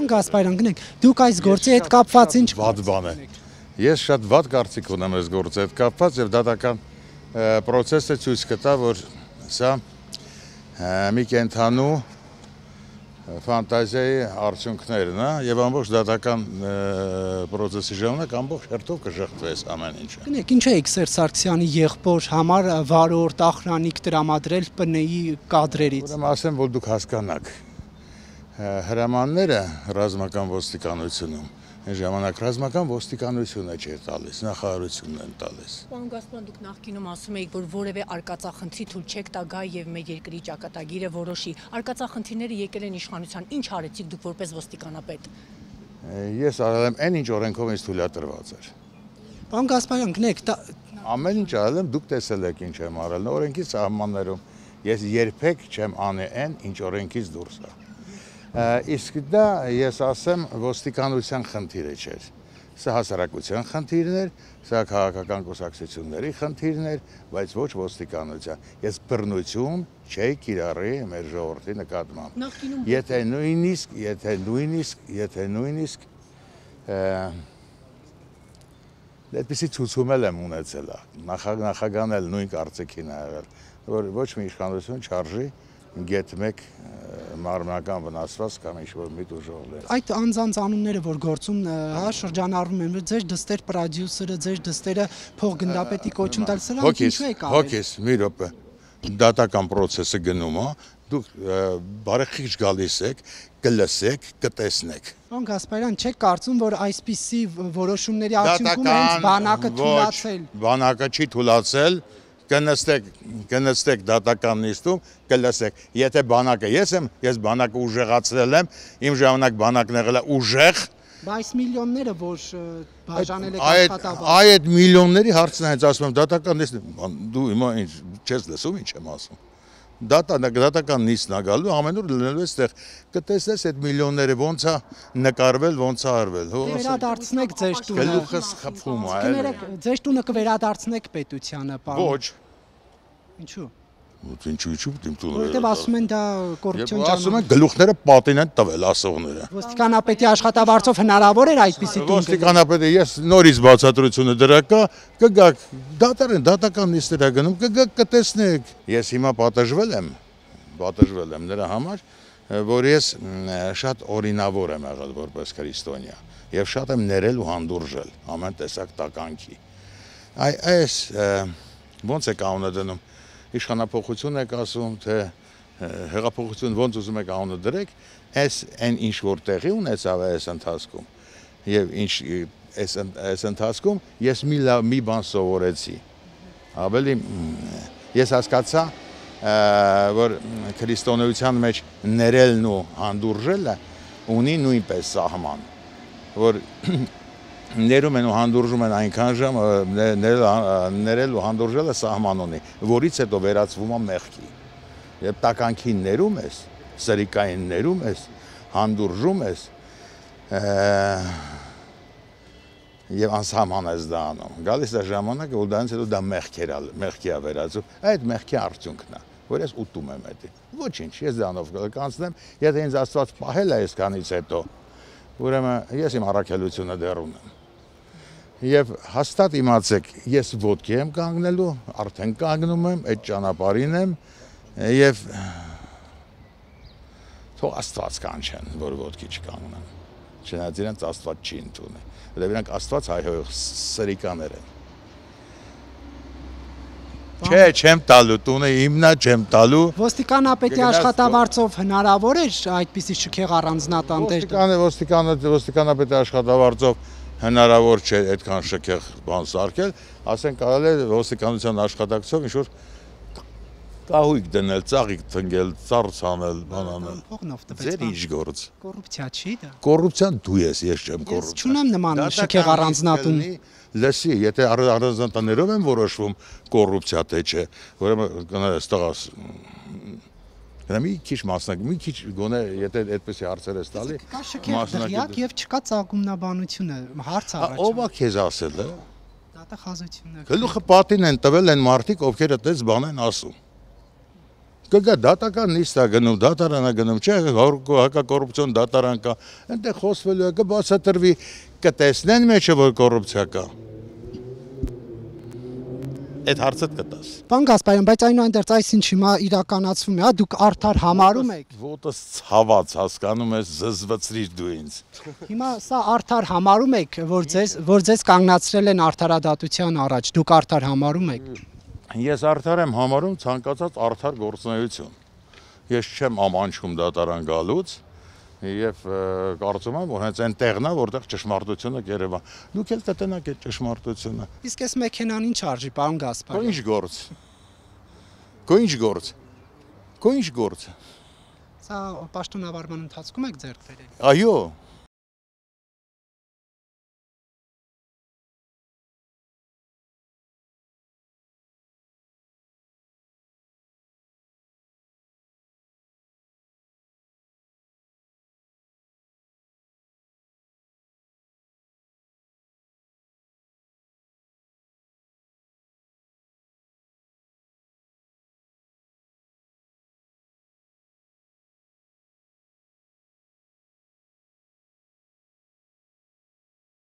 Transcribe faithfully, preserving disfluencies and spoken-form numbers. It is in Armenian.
Պարոն Գասպարյան, գնանք, դուք այս գործի հետ կապված ինչ վատ բան է։ Ես շատ վատ կարծիք ունեմ այս գործի հետ կապված եւ դատական պրոցեսը ցույց կտա, որ սա մի կենթանու ֆանտազիայի արդյունքներն է եւ ամբողջ դատական պրոցեսի ժամանակ ամբողջ հերթով կժխտվես ամեն ինչը։ Գնանք, ինչ է Սերժ Սարգսյանի եղբոր համար վարորդ ախրանիկ տրամադրել ՊՆ-ի կադրերից։ Ուրեմն ասեմ, որ դուք հասկանաք, հրամանները ռազմական ոստիկանությունում այն ժամանակ ռազմական ոստիկանությունը չէր տալիս, նախարարությունն են տալիս։ Պարոն Գասպարյան, դուք նախկինում ասում եք, որ որևէ արկածախնդրի թույլ չեք տա գա եւ մեր երկրի ճակատագիրը որոշի։ Արկածախնդիրները եկել են իշխանության, ինչ արեցիք դուք որպես ոստիկանապետ։ Ես արել եմ այն, ինչ օրենքով ինձ թույլատրված էր։ Պարոն Գասպարյան, գնանք, ամեն ինչ արել եմ, դուք տեսել եք ինչ եմ արել, օրենքի սահմաններում։ Ես երբեք չեմ անե այն, ինչ օրենքից դուրս է։ Իսկ դա ես ասեմ ոստիկանության խնդիրը չէր, սա հասարակության խնդիրն էր, սա քաղաքական կուսակցությունների խնդիրն էր, բայց ոչ ոստիկանության։ Ես բռնություն չէի կիրառի մեր ժողովրդի նկատմամբ։ Եթե նույնիսկ, եթե նույնիսկ, եթե նույնիսկ այդպիսի ցուցում եմ ունեցել, նախագահն էլ նույն կարծիքին ա եղել, որ ոչ մի իշխանություն չարժի գետ մեկ մարմնական վնասված կամ ինչ-որ մի ուժողներ։ Այդ անձանց անունները, որ գործում հա շրջանառվում են, ձեր դստեր պրոդյուսերը, ձեր դստերը փոխգնդապետի կոչում տալ, սրանք ինչու եք արել։ Հոգես, մի րոպե, դատական պրոցեսը գնում է, դուք բարեխիղճ գալիս եք, կլսեք, կտեսնեք։ Պարոն Գասպարյան, չեք կարծում, որ այսպիսի որոշումների արդյունքում հենց բանակը թույլատրել։ Բանակը չի թույլատրել, կնստեք, կնստեք դատական նիստում, կլսեք։ Եթե բանակը ես եմ, ես բանակը ուժեղացրել եմ, իմ ժամանակ բանակն եղել է ուժեղ։ Բայց միլիոնները, որ բաժանել եք աշխատավարձ։ Այդ միլիոնների հարցն է, հենց ասում եմ, դատական նիստն, դու հիմա ինչ չես լսում, ինչ եմ ասում։ Դատական նիստն է գալու, ամենուր լինելու է այդտեղ, կտեսնես այդ միլիոնները ոնց է նկարվել, ոնց է արվել։ Վերադարձնեք ձեր տունը։ Գլուխս խփում է, էլի։ Ձեր տունը կվերադարձնեք պետությանը, պարոն։ Ոչ։ Ինչու՞։ Ինչու ինչու իմ տունը։ Որտեւ ասում են դա կոռուպցիոն ճանապարհ։ Ասում են գլուխները պատին են տվել ասողները։ Ոստիկանապետի աշխատավարձով հնարավոր էր այդպիսի տուն։ Ոստիկանապետը ես նորից բացատրությունը դրա կա, կգաք, դատարան, դատական նիստեր է գնում, կգաք կտեսնեք։ Ես հիմա պատժվել եմ, պատժվել եմ նրա համար, որ ես շատ օրինավոր եմ եղել որպես քրիստոնյա եւ շատ եմ ներել ու հանդուրժել ամեն տեսակ տականքի։ Այս ոնց է կանոնը դնում։ Իշխանափոխություն եք ասում, թե հեղափոխություն ոնց ուզում եք անունը դրեք, այս այն ինչ որ տեղի ունեցավ այս ընթացքում եւ ինչ այս ընթացքում ես մի մի բան սովորեցի։ Ավելի ես հասկացա, որ քրիստոնեության մեջ ներելն ու հանդուրժելը ունի նույնպես սահման, որ ներում են ու հանդուրժում են այնքան ժամ, ներել ու հանդուրժելը սահման ունի, որից հետո վերածվում է մեղքի։ Երբ տականքին ներում ես, սրիկային ներում ես, հանդուրժում ես եւ անսահման ես դա անում։ Գալիս է ժամանակը, որ դրանից հետո դա մեղքի է վերածում, այդ մեղքի արդյունքն է, որ ես ուտում եմ դա։ Ոչինչ, ես դրանով կանցնեմ, եթե ինձ Աստված պահել է այսքանից հետո, ուրեմն ես իմ առաքելությունը դեռ ունեմ։ Եվ հաստատ իմացեք, ես ոտքի եմ կանգնելու, արդեն կանգնում եմ, այդ ճանապարհին եմ եւ թող Աստված կանչեն, որ ոտքի չկանգնեմ։ Չնայած իրենց Աստված չի ընդունել, որովհետեւ իրանք Աստված հայհոյող սրիկաներ են։ Չէ, չեմ տալու, տունը իմն է, չեմ տալու։ Ոստիկանապետի աշխատավարձով հնարավոր է այդպիսի շքեղ առանձնատան տեղ։ Ոստիկանը, ոստիկանապետի աշխատավարձով հնարավոր չէ այդքան շքեղ բան սարքել, ասենք կարելի է ոստիկանության աշխատակցով ինչ-որ կահույք դնել, ծաղիկ տնկել, ծառ ցանել, բան անել։ Ձեր ինչ գործ։ Կոռուպցիա չի դա։ Կոռուպցիան դու ես, ես չեմ կոռուպցիա։ Ես չունեմ նման շքեղ առանձնատուն։ Լսի, եթե առանձնատներով են որոշվում կոռուպցիա թե չէ, ուրեմն կներես տղաս մի քիչ մասնակ, մի քիչ գոնե եթե այդպեսի հարցեր ես տալի, կա շքեղ դղյակ եւ չկա ծագումնաբանությունը, հարց առաջ։ Ո՞վ է քեզ ասել է։ Դատախազությունն է։ Գլուխը պատին են տվել են մարդիկ, ովքեր այդպես բան են ասում։ կգա դատական նիստ է գնում, դատարան է գնում, չէ, հակակոռուպցիոն դատարան կա, այնտեղ խոսվելու է, կբացատրվի, կտեսնեն մեջը, որ կոռուպցիա կա։ Այդ հարցը կտաս։ Պարոն Գասպարյան, բայց այնուհանդերձ այս ինչ հիմա իրականացվում է, հա, դուք արդար համարում եք։ Ոտս ցաված հասկանում ես, զզվծրիր դու ինձ։ Հիմա սա արդար համարում եք, որ ձեզ որ ձեզ կանգնացրել են արդարադատության առաջ, դուք արդար համարում եք։ Ես արդար եմ համարում ցանկացած արդար գործունեություն։ Ես չեմ ամանչում դատարան գալուց եւ կարծում եմ, որ հենց այն տեղն է, որտեղ ճշմարտությունը կերևա։ Դուք էլ կտնաք այդ ճշմարտությունը։ Իսկ այս մեքենան ինչ արժի, պարոն Գասպարյան։ Քո ինչ գործ։ Քո ինչ գործ։ Քո ինչ գործ։ Սա պաշտոնավարման ընթացքում եք ձեռք բերել։ Այո,